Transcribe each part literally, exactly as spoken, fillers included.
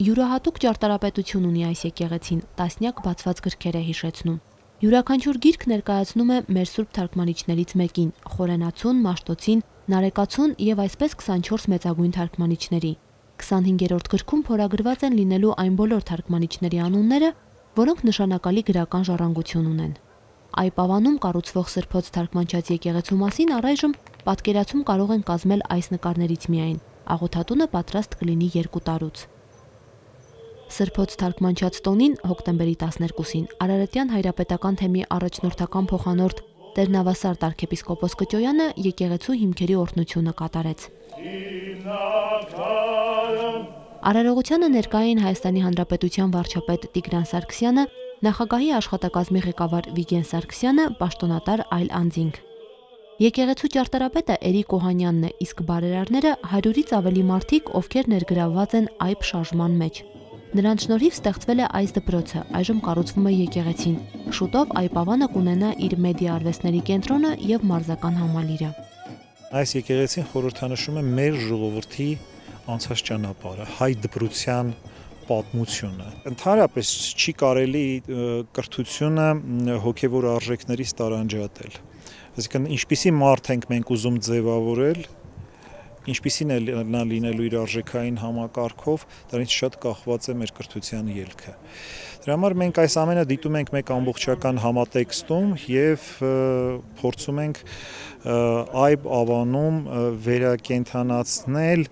Յուրահատուկ ճարտարապետություն ունի այս եկեղեցին, տասնյակ բացված գրքեր է հիշեցնում։ Յուրաքանչյուր գիրք ներկայացնում է մեր սուրբ թարգմանիչներից մեկին՝ Խորենացուն, Մաշտոցին, Նարեկացուն եւ այսպես քսանչորս մեծագույն թարգմանիչների։ քսանհինգերորդ գրքում փորագրված են լինելու այն բոլոր թարգմանիչների անունները, որոնք նշանակալի գրական ժառանգություն ունեն։ Այպավանում կառուցվող Սրբոց թարգմանչած եկեղեցու մասին առայժմ պատկերացում կարող են կազմել այս նկարներից միայն։ Աղոթատունը պատրաստ կլինի երկու տարուց։ Սրբոց թարգմանչած տոնին հոկտեմբերի տասներկուսին Արարատյան հայրապետական թեմի առաջնորդական փոխանորդ Տեր Նավասարդ arczepiskopos Կճոյանը եկեղեցու հիմքերի օրհնությունը կատարեց։ Արարողությանը ներկա էին Հայաստանի Հանրապետության վարչապետ Տիգրան Սարգսյանը, նախագահի աշխատակազմի ղեկավար Վիգեն Սարգսյանը, պաշտոնատար այլ անձինք։ Եկեղեցու ճարտարապետը Էրիկ Օհանյանն է, իսկ բարերարները հարյուրից ավելի մարդիկ, ովքեր ներգրավված են այբ շարժման մեջ։ Նրանց շնորհիվ ստեղծվել է այս դպրոցը, այժմ կառուցվում է եկեղեցին։ Շուտով Այպավանը կունենա իր մեդիա արվեստների կենտրոնը եւ մարզական համալիրը։ Այս եկեղեցին խորհրդանշում է մեր ժողովրդի անցած ճանապարհը, հայ դպրության պատմությունը։ Ընդհանրապես չի կարելի կրթությունը հոգևոր արժեքներից տարանջատել։ Այսինքն ինչպիսի մարդ ենք մենք ուզում ձևավորել, ինչպիսին է նա լինելու իր արժեքային համակարգով, դրանից շատ կախված է մեր կրթության ելքը։ Դրա համար մենք այս ամենը դիտում ենք մեկ ամբողջական համատեքստում եւ փորձում ենք այբ ավանում վերակենդանացնել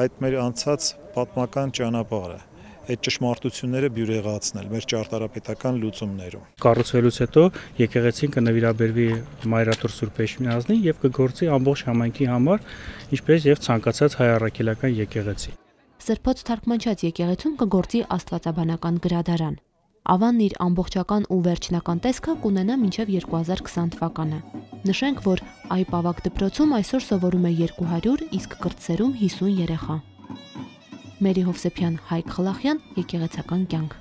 այդ մեր անցած պատմական ճանապարհը, այդ ճշմարտությունները բյուրեղացնել մեր ճարտարապետական լուծումներում։ Կառուցվելուց հետո եկեղեցին կնվիրաբերվի Մայրաթոր Սուրբ Էջմիածնին եւ կգործի ամբողջ համայնքի համար, ինչպես եւ ցանկացած հայ առաքելական եկեղեցի։ Սրբոց թարգմանչած եկեղեցում կգործի աստվածաբանական գրադարան։ Ավանն իր ամբողջական ու վերջնական տեսքը կունենա մինչև երկու հազար քսան թվականը։ Նշենք, որ այբ ավագ դպրոցում այսօր սովորում է երկու հարյուր, իսկ կրտսերում հիսուն երեխա։ Մերի Հովսեփյան, Հայկ Խլախյան, եկեղեցական կյանք։